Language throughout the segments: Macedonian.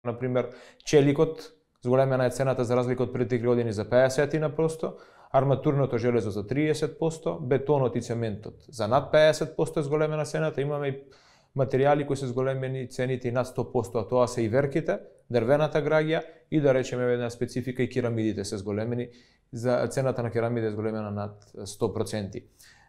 Например, челикот зголемена е цената за разлика од пред 3 години за 50%, арматурното железо за 30%, бетонот и цементот за над 50% е зголемена цената, имаме и материјали кои се зголемени цените и над 100%, а тоа се и верките, дрвената граѓа и да речеме една специфика и керамидите се зголемени, за цената на керамида е зголемена над 100%.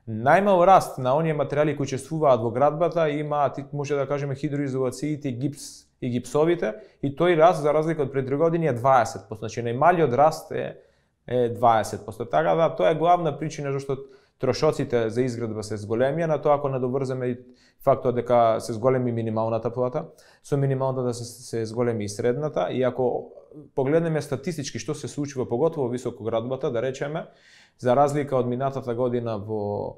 Најмал раст на оние материјали кои учествуваат во градбата имаат, може да кажеме, хидроизолациите, гипс и гипсовите, и тој раст за разлика од пред 3 години е 20%, значи најмалиот раст е 20%. Така да, тоа е главна причина зашто трошоците за изградба се зголемија, на тоа ако надоврземе и фактот дека се зголеми минималната плата, со минималната да се зголеми и средната, и ако погледнеме статистички што се случува поготово во високоградбата, да речеме, за разлика од минатата година во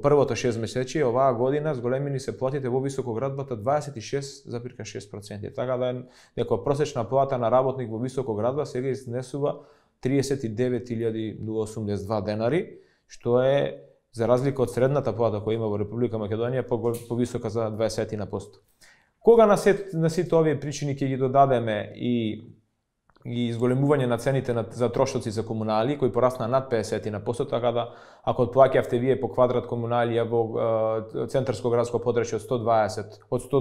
првото 6 месеци, оваа година зголемени се платите во високоградбата 26,6%. Така да некоја просечна плата на работник во високоградба сега изнесува 39.082 денари, што е за разлика од средната плата која има во Република Македонија повисока за 20%. Кога на сите овие причини ќе ги додадеме и изголемување на цените за трошоци за комунали, кои порасна над 50%, така да ако плаќавте вие по квадрат комуналија во центарско градско подрачје од 100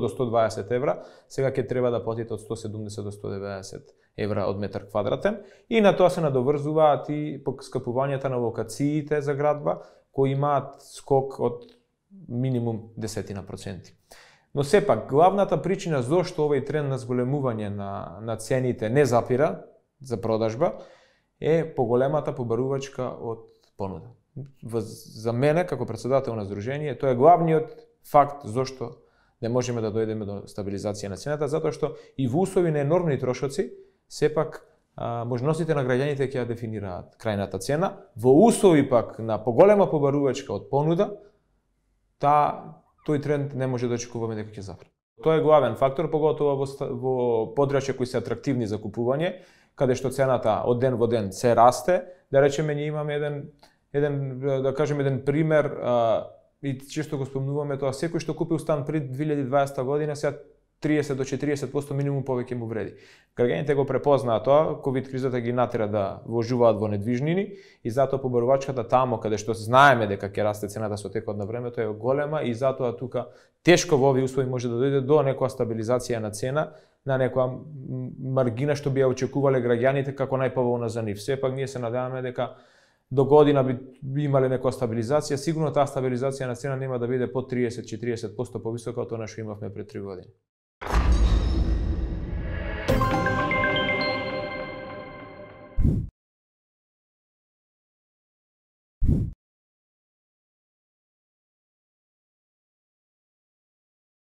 до 120 евра, сега ќе треба да платите од 170 до 190 евра од метар квадратен, и на тоа се надоврзуваат и поскапувањата на локациите за градба, кои имаат скок од минимум 10%. Но сепак, главната причина зошто овој тренд на зголемување на цените не запира за продажба е поголемата побарувачка од понуда. За мене, како председател на Сдружение, тоа е главниот факт зошто не можеме да дојдеме до стабилизација на цената, затоа што и во услови на енормни трошоци, сепак можностите на граѓаните ќе ја дефинираат крајната цена. Во услови пак на поголема побарувачка од понуда, тој тренд не може да очекуваме дека ќе запре. Тоа е главен фактор, поготово во подрачја кои се атрактивни за купување, каде што цената од ден во ден се расте. Да речеме, ние имаме еден пример, и често го спомнуваме тоа, секој што купил стан пред 2020 година, сега 30 до 40% минимум повеќе му вреди. Граѓаните го препознаат тоа, ковид кризата ги натера да вложуваат во недвижнини, и затоа побарувачката тамо каде што знаеме дека ќе расте цената со текот на времето е голема, и затоа тука тешко во овие услови може да дојде до некоја стабилизација на цена, на некоја маргина што би ја очекувале граѓаните како најповолна за нив. Сепак ние се надеваме дека до година би имале некоја стабилизација, сигурно таа стабилизација на цена нема да биде под 30-40% повисока од тоа што имавме пред 3 години.